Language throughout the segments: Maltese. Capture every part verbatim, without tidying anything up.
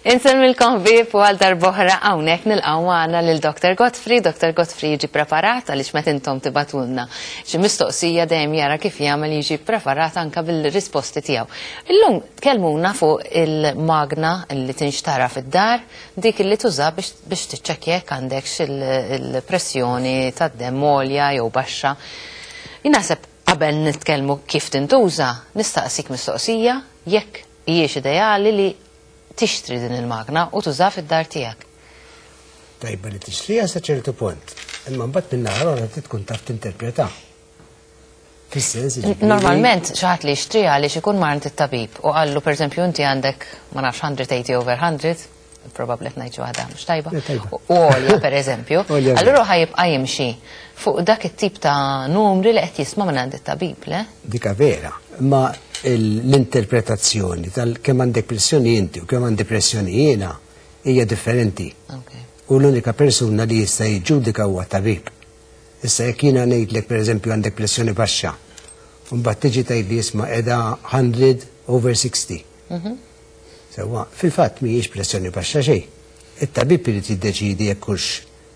Insellmilkom ħbieb u għal darb'oħra hawnhekk nilqgħu magħna lil Doctor Godfrey. Doctor Godfrey jiġi preparat għaliex meta intom tibagħtulna xi mistoqsija dejjem jara kif jagħmel jiġi preparat anka bil-risposti tiegħu. Illum tkellmuna fuq il-magna li tinxtara fid-dar, dik li tuża biex biex tiċċekkja jekk għandekx il-pressjoni tad-demm għolja jew baxxa. Jien naħseb qabel nitkellmu kif tintuża, nistaqsik mistoqsija jekk hijiex ideali li tixtri din il-magna u tuża fid-dar tiegħek. Tajba li tixtriha sa ċertu punt. Imma mbagħad min-naħa l-oħra trid tkun taf tinterpreta. Fis-sens jiġifieri- Normalment xi ħadd li jixtriha għaliex ikun mar għand it-tabib u qallu, pereżempju, inti għandek, ma nafx, mija u tmenin over mija, probabbli qed ngħid xi waħda mhux tajba. Le, tajba. U għolja, pereżempju. Għolja. Allura ħa jibqa' jimxi fuq dak it-tip ta' numri li qed jisma' minn għand it-tabib, le? Dika vera, ma l-interpretazzjoni tal kemm għandek pressjoni inti u kemm għandi pressjoni jiena hija differenti. Okay. U l-unika persuna li jista' jiġġudika huwa tabib. Issa jekk jiena ngħidlek, pereżempju, għandek pressjoni baxxa, u mbagħad tiġi tgħid li isma' qiegħda mija over sittaħax. Sewwa, fil-fatt mhijiex pressjoni baxxa xejn. It-tabib irid jiddeċidi jekk hux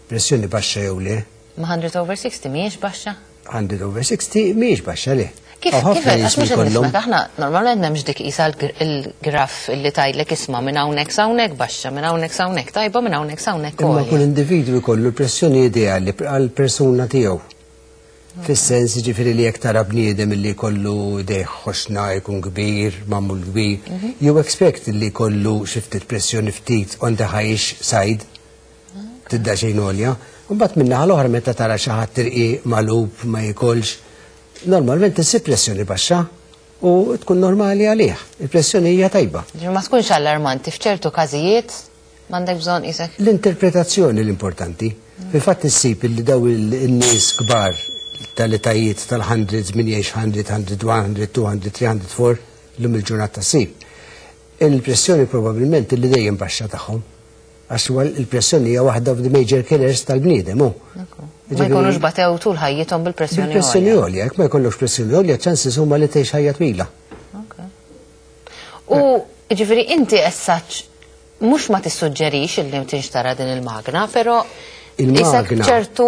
pressjoni baxxa jew le. Ma mija over sittaħax mhijiex baxxa? mija over sittaħax mhijiex baxxa, le. Kif, Hawn kif, ħafna għax nies mhux li qed jkollhom- nifhmek, aħna normalment m'hemmx dik isa il-graf li tgħidlek isma' minn hawnhekk s'hawnhekk baxxa, minn hawnhekk s'hawnhekk tajba, minn hawnhekk s'hawnhekk Imma għolja. kull individwu jkollu l-pressjoni ideali għal persuna tiegħu. Fis-sens ġifieri li jekk tara bniedem li jkollu idejh ħoxna, jkun kbir, magħmul kbir, you expect li jkollu xi ftit pressjoni ftit on the highish side, tidda xejn għolja. Mbagħad min-naħa l-oħra meta tara xi ħadd irqiq, magħlub, ma jikolx, normalment issib pressjoni baxxa u tkun normali għalih. Il-pressjoni hija tajba. Ġifieri ma tkunx allarmanti f'ċertu każijiet, m'għandek bżonn isek. L-interpretazzjoni l-importanti. Fil-fatt issib li daw il-nies kbar tal-etajiet tal-hundreds, min jgħix mija, mija u wieħed, mija u tnejn, mitejn, tliet mija u erbgħa, l-lum il-ġurnata ssib. Il-pressjoni probabbilment li dejjem baxxa tagħhom. Għax huwa il-pressjoni hija waħda of the major killers tal-bniedem, hu. Ma jkunux batew tul ħajjithom bil-pressjoni Bil-pressjoni għolja. għolja, jekk ma jkollokx pressjoni għolja, chances huma li tgħix ħajja twila. U ġifieri inti essaċ mhux ma tissuġġerix illi tinxtara din il-magna, però Il-magna isek ċertu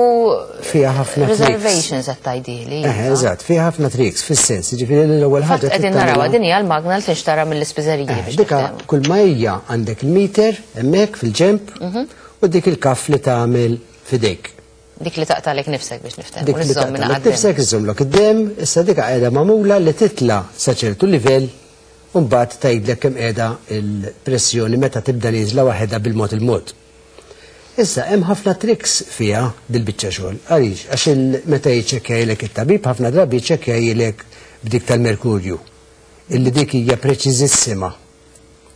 fiha ħafna tricks. reservations qed tgħidili. Eh, eżatt, fiha ħafna tricks, fis-sens, ġifieri l-ewwel Fatt ħaġa qegħdin trid narawha, tagħmilha- din hija l-magna li tinxtara mill-ispiżeriji Eh, biex Dika niftehmu. kull ma hija għandek il-meter hemmhekk fil-ġemp u dik il-cuff li tagħmel f'idejk. Dik li taqtalek nifsek biex niftehmu. Dik li Iżżomm minn taqtalek għad-demm. nifsek, iżżommlok id-dem, issa dika qiegħda magħmula li titla sa ċertu livell u mbagħad tgħidlek kemm qiegħda il-pressjoni meta tibda nieżla waħedha bil-mod il-mod. Issa hemm ħafna tricks fiha dil-biċċa xogħol. Għaliex? Għax il- meta jiċċekkjajlek it-tabib ħafna drabi jiċċekkjajlek b'dik tal-merkurju. Illi dik hija preċiżissima.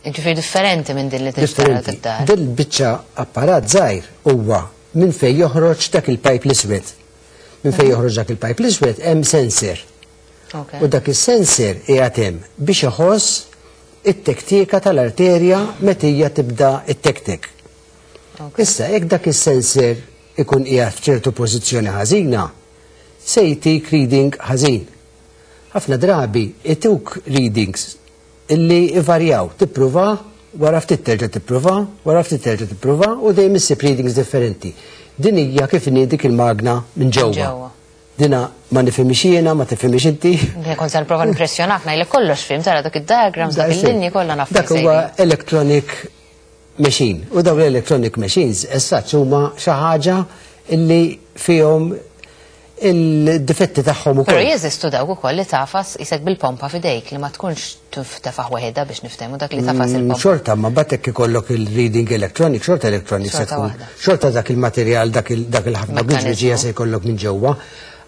Ġifieri differenti minn din li tinxtara Differenti. fid-dar. Dil-biċċa apparat żgħir huwa minn fejn joħroġ dak il-pipe l-iswed. Minn fejn joħroġ dak il-pipe l-iswed hemm sensor. Ok. U dak is-sensor qiegħed hemm biex iħoss it-tektika tal-arterja meta hija tibda it-tektek. Ok. Issa, jekk dak is-sensor ikun qiegħed f'ċertu pożizzjoni ħażina, se jtik reading ħażin. Ħafna drabi ituk readings illi ivarjaw, tippruva, wara ftit terġa' tippruva, wara ftit terġa' tippruva u dejjem issib readings differenti. Din hija kif inhi dik il-magna minn ġewwa. Ġewwa. Dina ma nifhimx jiena, ma tifhimx inti. Kont se nipprova nimpressjonak, ngħidlek kollox fhimt, tara dak id-diagrams, dak il-linji kollha naf. Dak huwa electronic machine. U dawn l-electronic machines essaċ huma xi ħaġa illi fihom il-difetti tagħhom Però ukoll. jeżistu dawk ukoll li tagħfas isek bil-pompa f'idejk li ma tkunx tefaħ waħedha biex niftehmu, dak li tagħfas Mm, il-pompa. Xorta, ma batek ikollok il-reading electronic, xorta electronic se Xorta tkun. waħda. Xorta dak il-materjal, dak il- dak il-ħafna Mekkanizmu. biġbiġija se jkollok minn ġewwa.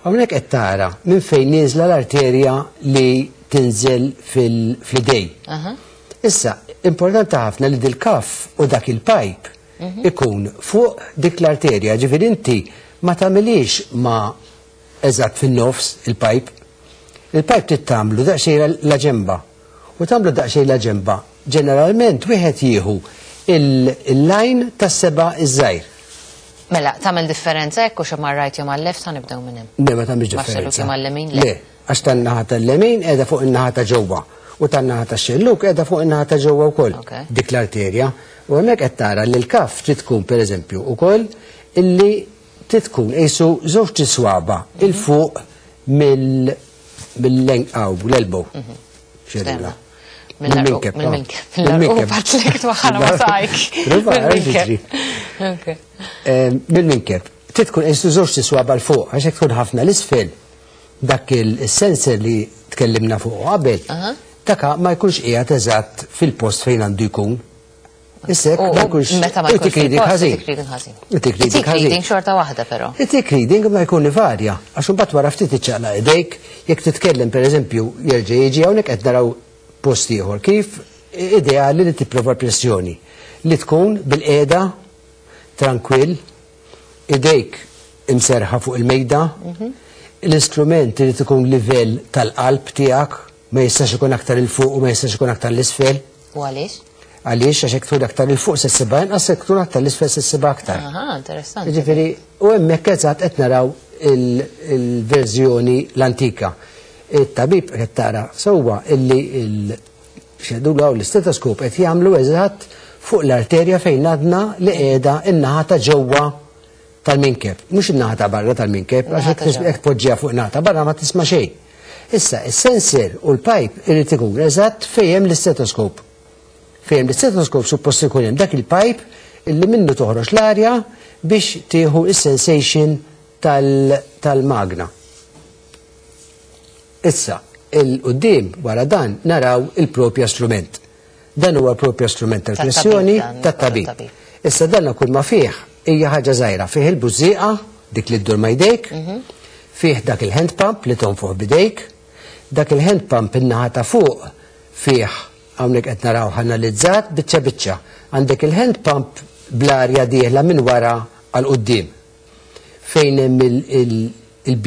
Hawnhekk qed tara minn fejn nieżla l-arterja li tinżel fil-idej. Aha. Issa, importanti ħafna li dil-cuff u dak il-pipe ikun fuq dik l-arterja, ġifieri inti ma tagħmilix ma eżatt fin-nofs il-pipe. Il-pipe trid tagħmlu daqsxejn la ġemba. U tagħmlu daqsxejn la ġemba. Ġeneralment wieħed jieħu il-line tas-seba' iż-żgħir. Mela, tagħmel differenza hekk u xi mar-right jew mal-left, ħa nibdew minn hemm? Ne, ma tagħmilx Ma' xellug differenza. jew mal-lemin, Le, għax tan-naħa tal-lemin qiegħda fuq in-naħa ta' ġewwa. U tan-naħa tax-xellug qiegħda fuq in-naħa ta' ġewwa wkoll dik l-arterja. U hemmhekk qed tara li l-cuff trid tkun pereżempju ukoll illi trid tkun qisu żewġ tiswaba 'il fuq mill-lenqaw l-elbow. Xerilla. Mill-minkeb. Mill-minkeb. Patlek twaħħala ma sajk. Mill-minkeb. Trid tkun qisu żewġ tiswaba 'l fuq għax hekk tkun ħafna l-isfel dak il-sensor li tkellimna fuq qabel, daka ma jkunx qiegħed eżatt fil-post fejn għandu jkun. Issek, ma jkunx. Meta ma jkunx reading ħażin. Tik reading xorta waħda però. Tik reading ma jkun varja, għax imbagħad wara ftit iċċaqlaq idejk, jekk titkellem pereżempju jerġa' jiġi hawnhekk qed naraw post ieħor kif ideali li tipprova pressjoni li tkun bil-qiegħda trankwill, idejk imserħa fuq il-mejda, l-istrument irid ikun livell tal-qalb tiegħek, ma jistax ikun aktar 'il fuq u ma jistax ikun aktar l-isfel. U għaliex? Għaliex għax hekk tkun aktar 'il fuq se ssibha inqas, hekk tkun aktar l-isfel se ssibha aktar. Aha, interessanti. Jiġifieri, u hemmhekk eżatt qed naraw il-verżjoni l-antika. It-tabib qed tara sewwa illi il-xedulu hawn l-istetoskop qed jagħmlu eżatt fuq l-arterja fejn għadna li qiegħda in-naħa ta' ġewwa tal-minkeb, mhux in-naħa ta' barra tal-minkeb, għax hekk tpoġġiha fuq naħa ta' barra ma tisma' xejn. Issa, is-sensor u l-pipe irid ikun eżatt fejn hemm l-istetoskop. Fejn hemm l-istetoskop suppost ikun hemm dak il-pipe illi minnu toħroġ l-arja biex tieħu is-sensation tal-magna. Issa, il-qudiem wara dan naraw il-propja strument. Dan huwa l-propja strument tal-pressjoni tat-tabib. Issa dan kull ma fih hija ħaġa żgħira, fih il-bużżieqa, dik li ddur ma jdejk, fih dak il-hand pump li tonfoħ bidejk, dak il-hand pump in-naħa ta' fuq fih hawnhekk qed naraw analizzat biċċa biċċa. Għandek il-hand pump bl-arja dieħla minn wara għal quddiem. Fejn hemm il-B.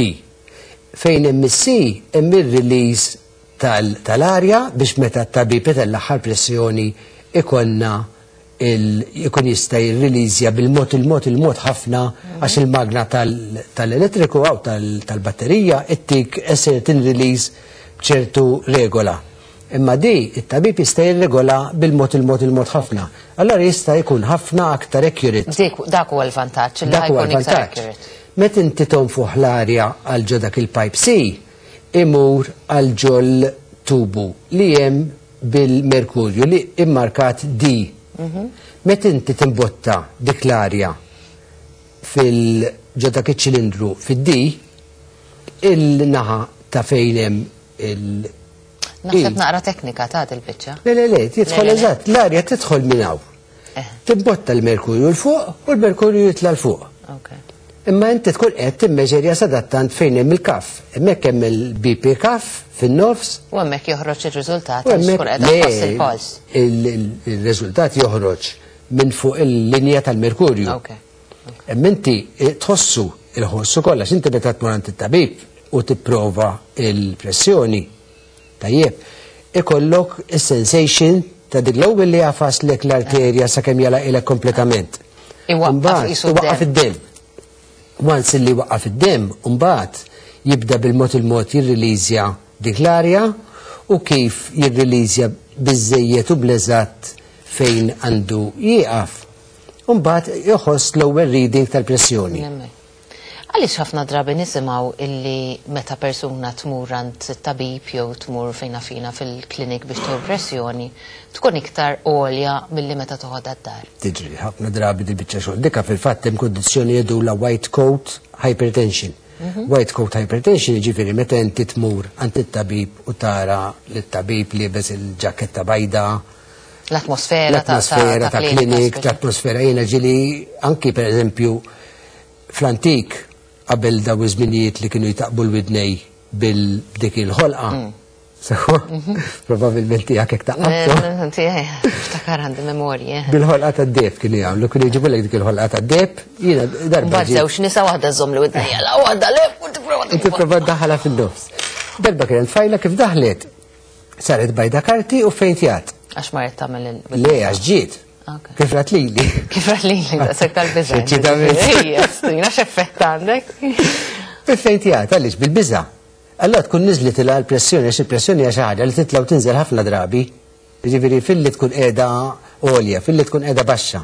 Fejn hemm is-C hemm ir-release tal-arja biex meta t-tabib itellagħha pressjoni ikollna ikun jista' jirreleasja bil-mod il-mod il-mod ħafna għax il-magna tal-elettriku għaw tal-batterija ittik a certain release b'ċertu regola. Imma di it-tabib jista' jirregola bil-mod il-mod il-mod ħafna. Allora jista' jkun ħafna aktar accurate. Dak huwa l-vantaġġ li jkun iktar accurate. Meta inti tonfoħ l-arja għal ġo dak il-pipe C, imur għal ġol tubu li hemm bil-merkurju li immarkat D. Meta inti timbotta dik l-arja fil-ġo dak iċ-ċilindru fid-D, il-naħa ta' fejn hemm il- Naħseb naqra teknika ta' il-biċċa. Le, le, le, tidħol eżatt, l-arja tidħol minn hawn. Timbotta l-merkurju 'l fuq u l-merkurju jitla' 'l fuq. Imma inti tkun qed timmeġerja sadattant fejn hemm il-cuff. Hemmhekk hemm il-B P cuff fin-nofs. U hemmhekk joħroġ ir-riżultat għax tkun qiegħda tħoss il-pols. Il-riżultat joħroġ minn fuq il-linja tal-merkurju. Imma inti tħossu il-ħossu kollha, inti meta tmur għand it-tabib u tipprova il-pressjoni, tajjeb, ikollok is-sensation ta' dik l-ewwel li jagħfaslek l-arterja sakemm jalaqilek kompletament. Iwaqqaf id-demm. Once li waqqaf id-demm, mbagħad jibda bil-mod il-mod jirreleasja dik l-arja u kif jirreleasja biżejjed u bleżatt fejn għandu jieqaf. Mbagħad joħoss l-ewwel reading tal-pressjoni. Għaliex ħafna drabi nisimgħu illi meta persuna tmur għand tabib jew tmur fejna fina fil-klinik biex tieħu pressjoni, tkun iktar għolja milli meta toħodha d-dar? Tiġri, ħafna drabi di biċċa xogħol. Dika fil-fatt hemm kundizzjoni jgħidulha white coat hypertension. Mhm. White coat hypertension jiġifieri meta inti tmur għand it-tabib u tara lit-tabib liebes il-ġaketta bajda, L-atmosfera. L-atmosfera ta' klinik, l-atmosfera jiena ġieli anki per eżempju fl-antik qabel daw iż-żminijiet li kienu jtaqbu l-widnej bil-dik il-ħolqa. Mm. Sewa, mhm. probabilment tiegħek hekk taqqabtu. Tiegħi, ftakar għandi memorji. Bil-ħolqa tad-deheb kienu jagħmlu, kienu jġibulek dik il-ħolqa tad-deheb, jiena darba. Mbagħad żewġ nisa, waħda żomm li widnejja, la waħda le, u tipprova. Tipprova daħala fin-nofs. Darba kien tfajla kif daħlet saret bajda karti u fejntjat. Għax marret tagħmel il Le, għax ġiet. Kif rat lili? Kif rat lili, daqshekk tal-biża'. Ejja, strina x'effett għandek. Fejntjat, għaliex bil-biża'. Allora tkun niżlitilha l-pressjoni, għax il-pressjoni hija xi ħaġa li titla' u tinżel ħafna drabi. Jiġifieri filli tkun qiegħda għolja, filli tkun qiegħda baxxa.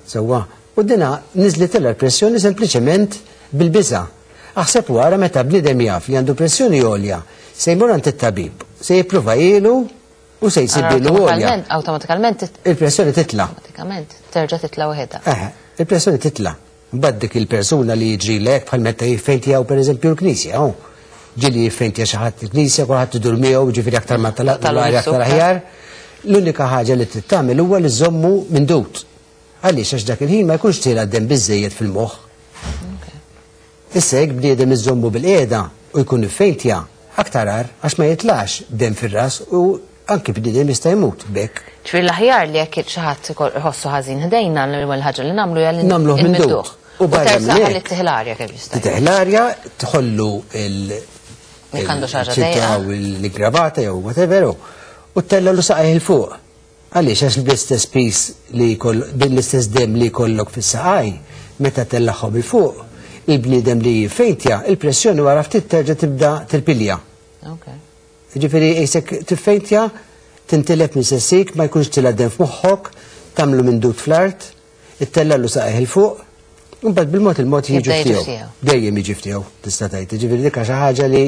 Sewwa. U dina niżlitilha l-pressjoni sempliċement bil-biża'. Aħseb wara meta bniedem jaf li għandu pressjoni għolja, se jmur għand it-tabib, se jippruvahielu u se jsibilu għolja. Awtomatikament Il-pressjoni titla'. Awtomatikament terġa' titla' waħedha. Eh, il-pressjoni titla'. Mbagħad dik il-persuna li jiġri lek bħal meta jiffejntjaw pereżempju l-knisja, oh. Ġieli jiffejntja xi ħadd il-knisja, kulħadd idur miegħu, ġifieri aktar ma talaq Tal-arja aktar aħjar. L-unika ħaġa li trid tagħmel huwa li żommu mindut. Għaliex? Għax dak il-ħin ma jkunx tiela' dem biżejjed fil-moħħ. Issa jekk bniedem iżommu bil-qiegħda u jkun iffejntja, aktar agħar, għax ma jitlax dem fir-ras u anki bniedem jista' jmut b'hekk. Ġifieri l-aħjar li jekk xi ħadd iħossu ħażin ħdejna, l-ewwel ħaġa li nagħmlu hija li Nagħmluh mindut. nmidduh. U barra U minn hekk. li ttih l-arja kemm jista'. Titih l-arja, tħollu il- Jekk għandu xi ħaġa il-ċinta dejqa. u l-gravata jew whatever, u ttellgħulu saqajh 'il fuq. Għaliex? Għax bl-istess piż li jkoll, bil-istess dem li jkollok fis-saqaj, meta tellagħhom 'il fuq, il-bniedem li jiffejntja, il-pressjoni wara ftit terġa' tibda tirpilja. Ok. Ġifieri qisek tiffejntja, tintilef minn sessik, ma jkunx tila dem f'moħħok, tagħmlu mindut fl-art, ittellgħulu saqajh 'il fuq, u mbagħad bil-mod il-mod jiġu Jibda jiġi ftiegħu. ftiegħu. Dejjem jiġi ftiegħu, tista' tgħid. Ġifieri dik xi ħaġa li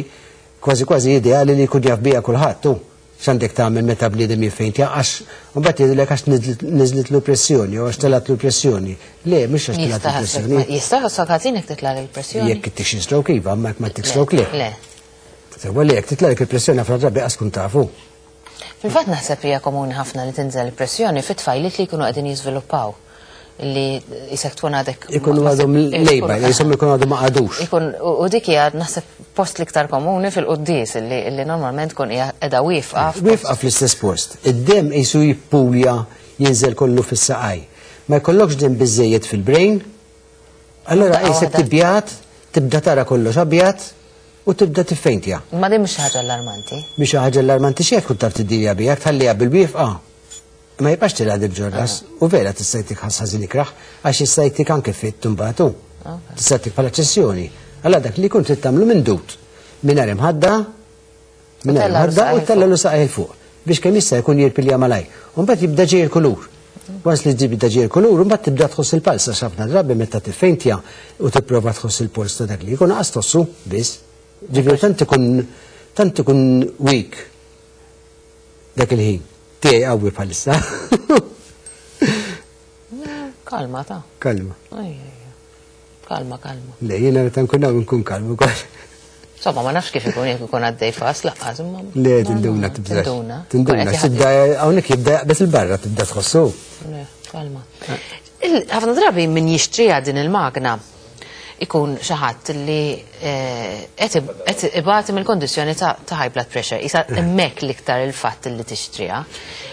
kważi kważi ideali li jkun jaf biha kulħadd tu. X'għandek tagħmel meta bniedem jiffejntja, għax mbagħad jgħidulek għax niżlitlu pressjoni jew għax telgħatlu pressjoni. Le, mhux għax telgħatlu pressjoni. Jista' jħossok ħażin jekk titla' l-pressjoni? Jekk ittik xi stroke iva, ma jekk ma ttik stroke le. Le. Sewwa li jekk titla'lek il-pressjoni ħafna drabi qas tkun tafu. Fil-fatt naħseb hija komuni ħafna li tinżel il-pressjoni fit-tfajliet li jkunu qegħdin jiżviluppaw, li jisek tkun għadek. Ikunu għadhom lejba, jisom ikunu għadhom ma qagħdux. Ikun, u dik hija naħseb post l-iktar komuni fil-quddies li li normalment tkun hija qiegħda wieqfa. Wieqfa fl-istess post. Id-dem qisu jippulja, jinżel kollu fis-saqaj. Ma jkollokx dem biżejjed fil-brain, allora Daqqa qisek waħda. tibjat, tibda tara kollox abjad u tibda tiffejntja. Ma din mhux ħaġa allarmanti. Mhix ħaġa allarmanti xejn, tkun taf tiddilja biha, tħalliha bil-wieqfa. Ma jibqax tilgħa ġor-ras u vera tista' jtik ħażin ikrah, għax jista' jtik anke fit tumbatu. Tista' jtik bħala ċessjoni. Allora dak li jkun trid tagħmlu mindut. Mingħajr imħadda, mingħajr tellgħu imħadda u saqajh tellgħulu saqajh 'il fuq biex kemm jista' jkun jirpilja malaj. U mbagħad jibda ġej il-kulur. Once li jibda ġej il-kulur, mbagħad tibda tħoss il-pulse, għax ħafna drabi meta tiffejntja u tipprova tħoss il-polz ta' dak li jkun qas tħossu biss. Ġifieri tant ikun tant ikun weak dak il-ħin. Tiegħi qawwi bħalissa. Kalma ta. Kalma. Ej, ej, ej. Kalma, kalma. Le, jiena meta nkun hawn nkun kalma ukoll. Insomma, ma nafx kif ikun jekk ikun għaddej fas laqqas imma. Le, tinduna tibżax. Tinduna. Tinduna, Kun qed tibda hawnhekk jibda jaqbes il-barra tibda tħossu. Le, kalma. Il- Ħafna drabi min jixtriha din il-magna ikun xi ħadd li eh, qed qed ibati mill-kondizzjoni ta' ta' high blood pressure. Isa hemmhekk l-iktar il-fatt li tixtriha.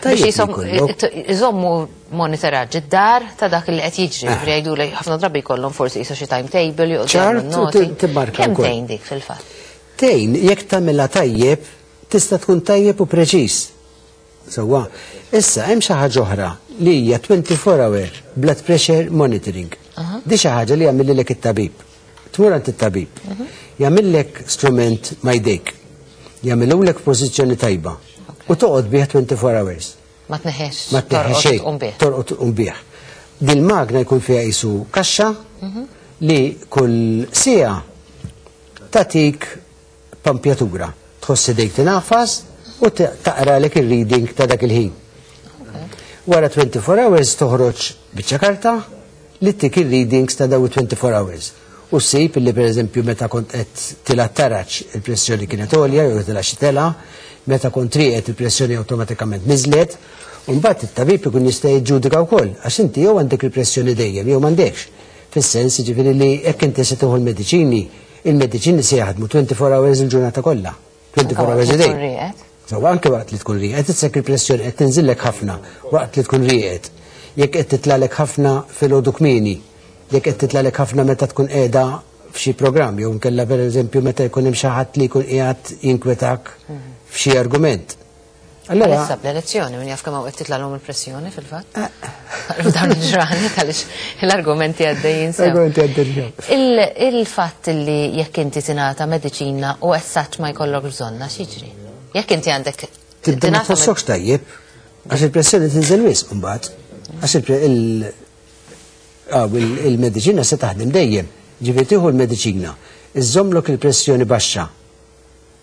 Tajjeb Biex jisom- li jkollok. iżommu monitoraġġ id-dar ta' dak li qed jiġri. Ġifieri jgħidu ħafna drabi jkollhom forsi jisa xi timetable joqogħdu Ċart jagħmlu u noti. ti- timmarka Kemm wkoll. tgħin dik fil-fatt? Tgħin, jekk tagħmilha tajjeb, tista' tkun tajjeb u preċiż. Sewwa, issa hemm xi ħaġa oħra li hija twenty-four hour blood pressure monitoring. Di xi ħaġa li jagħmillek it-tabib. Tmur għand it-tabib. Jagħmillek strument ma' jdejk. Jagħmilulek pożizzjoni tajba. U toqgħod bih twenty-four hours. Ma tneħħex. Ma tneħħex xejn. Torqod bih. Torqod tqum bih. Dil-magna jkun fiha qisu kaxxa li kull siegħa tatik pampjatura. Tħoss idejk tinafas u taqralek il-reading ta' dak il-ħin. Wara twenty-four hours toħroġ biċċa karta li ttik il-readings ta' daw twenty-four hours. U ssib li per eżempju meta kont qed tila taraġ il-pressjoni kienet għolja jew tila xi tela, meta kont rieqed il-pressjoni awtomatikament niżlet, u mbagħad it-tabib ikun jista' jiġġudika wkoll għax inti jew għandek il-pressjoni dejjem jew m'għandekx. Fis-sens jiġifieri li jekk inti se tieħu l-mediċini, il-mediċini se jaħdmu twenty-four hours il-ġurnata kollha. twenty-four hours a day. So anke waqt li tkun rieqed, titsek il-pressjoni qed tinżillek ħafna waqt li tkun rieqed. Jekk qed titlalek ħafna filgħodu kmieni, jekk qed titlalek ħafna meta tkun qiegħda f'xi programm, jew nkella pereżempju meta jkun hemm xi ħadd li jkun qiegħed jinkwetak f'xi argument. Allora, Issa bl-elezzjoni, min jaf kemm hawn qed titlalhom il-pressjoni fil-fatt. Dawn il-ġranet għaliex l-argumenti għaddejjin sew. Argumenti għaddejjin. Il- Il-fatt li jekk inti tingħata mediċina u essaċ ma jkollok bżonna, x'jiġri? Jekk inti għandek Tibda ma tingħata med- tħossokx tajjeb, għax il-pressjoni tinżel wisq imbagħad. Għax il- il- ah, il- il-mediċina se taħdem dejjem. Ġifieri tieħu l-mediċina, iżommlok il-pressjoni baxxa.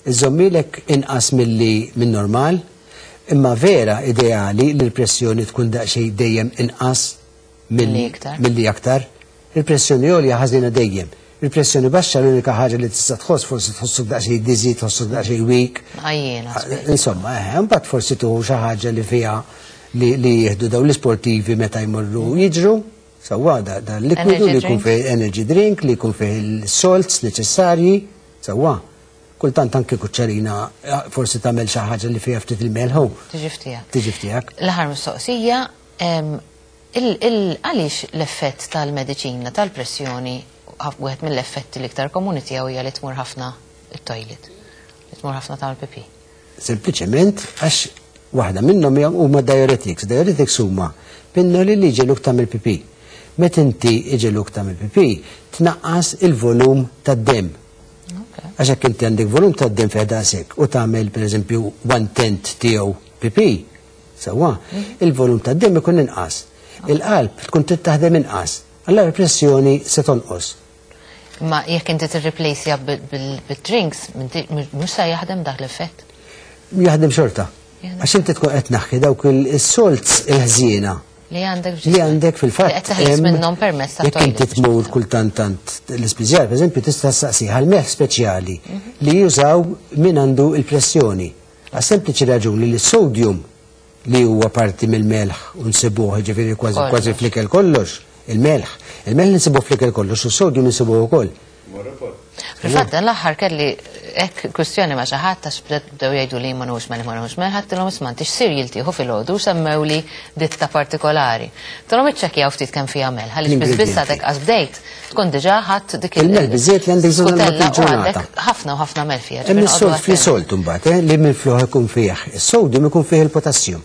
Iżommilek inqas milli minn normal, imma vera ideali li l-pressjoni tkun daqsxejn dejjem inqas Milli iktar. milli aktar. Il-pressjoni għolja ħażina dejjem. Il-pressjoni baxxa, l-unika ħaġa li tista' tħoss, forsi tħossok daqsxejn dizzy, tħossok daqsxejn weak. Għajjena. Insomma, eh, mbagħad forsi tuħu xi ħaġa li fiha li, li jieħdu daw l-isportivi meta jmorru jiġru, sewwa, da, da likwidu Energy li jkun drink. fih energy drink, li jkun fih il-salts neċessarji, sewwa. Kultant anke kuċċarina, eh, forsi tagħmel xi ħaġa li fiha ftit il-melħu, Tiġi f'tiegħek. Tiġi f'tiegħek. L-aħħar mistoqsija, em, il- il- għaliex l-effett tal-mediċina tal-pressjoni, wieħed mill-effetti l-iktar komuni tiegħu hija li tmur ħafna it-toilet, li tmur ħafna tagħmel pipi? Sempliċement għax waħda minnhom hija- huma diuretics. Diuretics huma pinnoli li jġegħluk tagħmel pipi. Meta inti iġegħluk tagħmel pipi, tnaqqas il-volum tad-dem. Għax jekk inti għandek volum tad-dem fih daqshekk u tagħmel, pereżempju, one tenth tiegħu pipi, sewwa, il-volum tad-dem ikun inqas. Il-qalb tkun trid taħdem inqas. Allora il-pressjoni se tonqos. Ma jekk inti tirreplaceja bil-drinks, mhux se jaħdem dak l-effett. Jaħdem xorta. Jaħdem. Għax inti tkun qed tneħħi dawk il-salts il-ħżiena Li għandek li għandek fil-fatt. Li qed teħles hemm- minnhom permezz ta' Jekk inti toilet. tmur kultant tant l-ispiżjar, per eżempju, tista' saqsi għal melħ speċjali li jużaw min għandu il-pressjoni. Għas sempliċi raġuni li s-sodium li huwa parti mill-melħ u nsibuh, ġifieri, kważi Kollox. kważi fl-ikel kollox, il-melħ. Il-melħ nsibuh fl-ikel kollox u s-sodium nsibuh ukoll. Fil-fatt, dan l-aħħar kelli hekk kwistjoni ma' xi ħadd għax bdew jgħidu li ma nux melħ, ma nux melħ, għedtilhom, "Isma', inti x'cereal tieħu filgħodu?" Semmew li ditta partikolari. Għedtilhom iċċekkjaw ftit kemm fiha melħ, għaliex biss biss għadek qas bdejt tkun diġà ħadd dik Il-melħ biżżejjed li għandek bżonn skutella u il-ġurnata. għandek ħafna u ħafna melħ fiha. Hemm Ġifieri is-salt noqogħdu free attenti. salt imbagħad, eh, li minflok ikun fih is-sodium ikun fih il-potassium.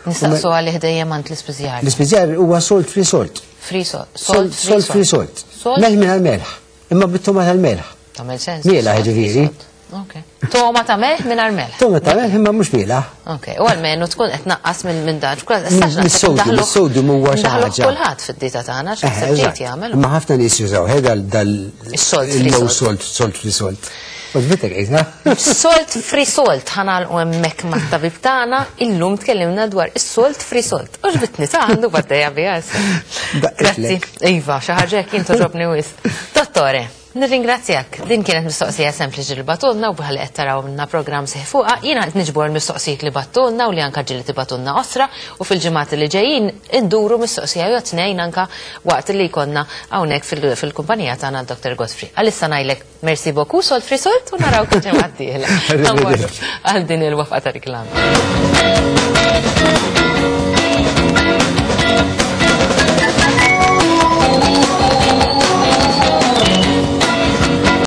Nistaqsu għalih dejjem għand l-ispiżjar. L-ispiżjar huwa salt free salt. Free salt. Salt salt free salt. Salt. Melħ minn melħ. Imma bit-togħma tal-melħ. Tagħmel sens. Mielaħ, Salt free ġifieri. salt. Ok. Togħma ta' melħ mingħajr melħ. Togħma ta' melħ imma mhux mielaħ. Ok, u għalmenu tkun qed naqqas minn minn dan. Mis-sodium, is-sodium huwa xi ħaġa. Kulħadd fid-dieta tagħna Eh, x'naħseb ġiet eżatt. jagħmel. Imma ħafna nies jużaw eh, dal dal Is-salt free il-low salt. salt, salt free salt. Għoġbitek għidha? Salt free salt, ħa nagħlqu hemmhekk mat-tabib tagħna, illum tkellimna dwar is-salt free salt. Għoġbitni ta' għandu baddejja biha issa. Grazzi. Daqqetlek. Iva, xi ħaġa hekk jien toġobni wisq. Dottore, nirringrazzjak. Din kienet mistoqsija sempliċi li bagħtulna u bħal qed taraw minna programm seħ fuqha. Jiena qed niġbor mistoqsijiet li bagħtulna u li anka ġieli tibagħtulna osra u fil-ġimgħat li ġejjin induru mistoqsija jew tnejn anka waqt li jkollna hawnhekk fil- fil-kumpanija tagħna Doctor Godfrey. Għalissa ngħidlek merci beaucoup, salt free salt, u naraw kif ġimgħa d-dieħla. Għal din il-waqfa ta' reklam.